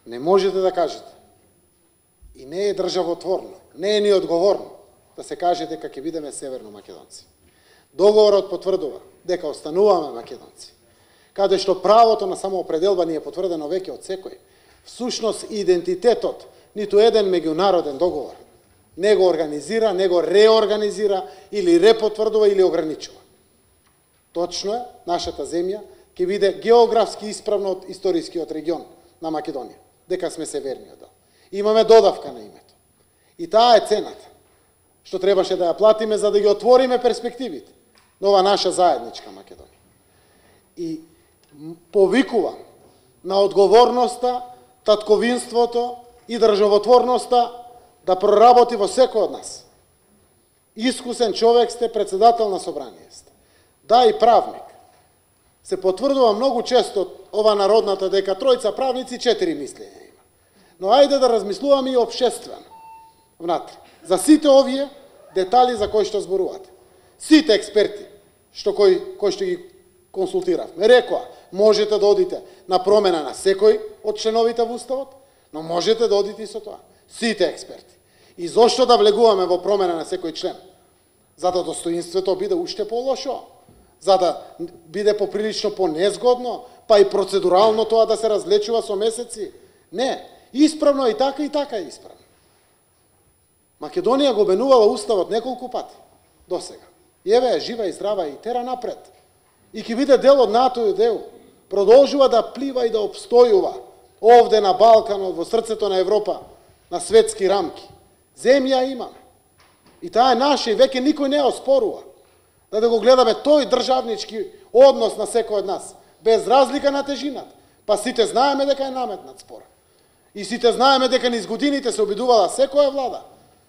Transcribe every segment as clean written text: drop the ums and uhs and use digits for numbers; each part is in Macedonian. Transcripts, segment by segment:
Не можете да кажете. И не е државотворно, не е ни одговорно да се каже дека ќе бидеме северно македонци. Договорот потврдува дека остануваме македонци, каде што правото на самоопределба ни е потврдено веќе од секој. Всушност идентитетот ниту еден меѓународен договор не го организира, не го реорганизира или репотврдува или ограничува. Точно е, нашата земја ќе биде географски исправно од историскиот регион на Македонија, дека сме северниот дел. Имаме додавка на името. И таа е цената што требаше да ја платиме за да ги отвориме перспективите на ова наша заедничка Македонија. И повикувам на одговорноста, татковинството и државотворноста да проработи во секој од нас. Искусен човек сте, председател на собрание сте. Да, и правник. Се потврдува многу често ова народната дека тројца правници 4 мислења има. Но ајде да размислуваме и општествено внатре. За сите овие детали за кои што зборувате. Сите експерти кои што ги консултиравме рекоа, можете да одите на промена на секој од членовите во Уставот, но можете да одите и со тоа. Сите експерти. И зошто да влегуваме во промена на секој член? За да достоинството биде уште по-лошо, за да биде поприлично понезгодно, па и процедурално тоа да се разлечува со месеци. Не, исправно и така е исправно. Македонија го менувала Уставот неколку пати до сега. И еве е жива и здрава и тера напред. И ќе биде дел од НАТО и ДЕУ. Продолжува да плива и да обстојува овде на Балканот, во срцето на Европа, на светски рамки. Земја имаме. И таа е наша и веќе никој не ја оспорува. Да го гледаме тој државнички однос на секој од нас, без разлика на тежината. Па сите знаеме дека е наметнат спор. И сите знаеме дека низ годините се обидувала секоја влада.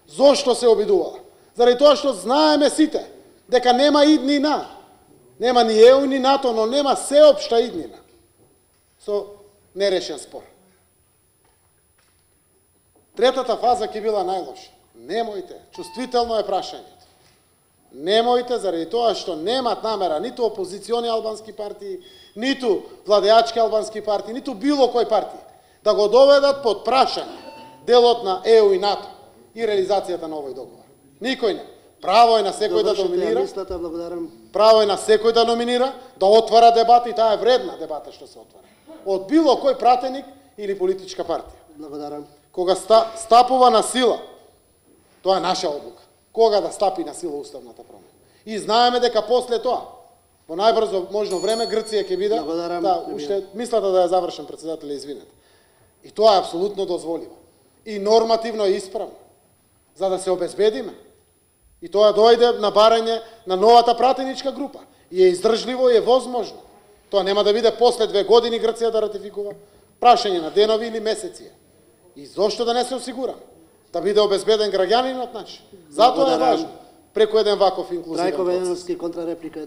Зошто се обидувала? Заради тоа што знаеме сите дека нема иднина. Нема ни ЕУ ни НАТО, но нема сеопшта иднина со нерешен спор. Третата фаза ќе била најлоша. Немојте, чувствително е прашањето. Немојте, заради тоа што немат намера ниту опозициони албански партии, ниту владеачки албански партии, ниту било кој партија, да го доведат под прашање делот на ЕУ и НАТО и реализацијата на овој договор. Никој не. Право е на секој да доминира. Право е на секој да номинира, да отвара дебата и таа е вредна дебата што се отвара. Од било кој пратеник или политичка партија. Благодарам. Кога стапува на сила, тоа е наша одлука. Кога да стапи на сила уставната промена. И знаеме дека после тоа, во најбрзо можно време, Грција ќе биде. Да, уште мислата да ја завршам, председателе, извинете. И тоа е апсолутно дозволиво. И нормативно е исправно. За да се обезбедиме. И тоа дојде на барање на новата пратеничка група. И е издржливо и е возможно. Тоа нема да биде после 2 години Грција да ратификува. Прашање на денови или месеци. И зошто да не се осигураме? Да биде обезбеден граѓанинот наш. Затоа е важно преку еден ваков инклузивен процес. Трајко Вејановски, контрареплика.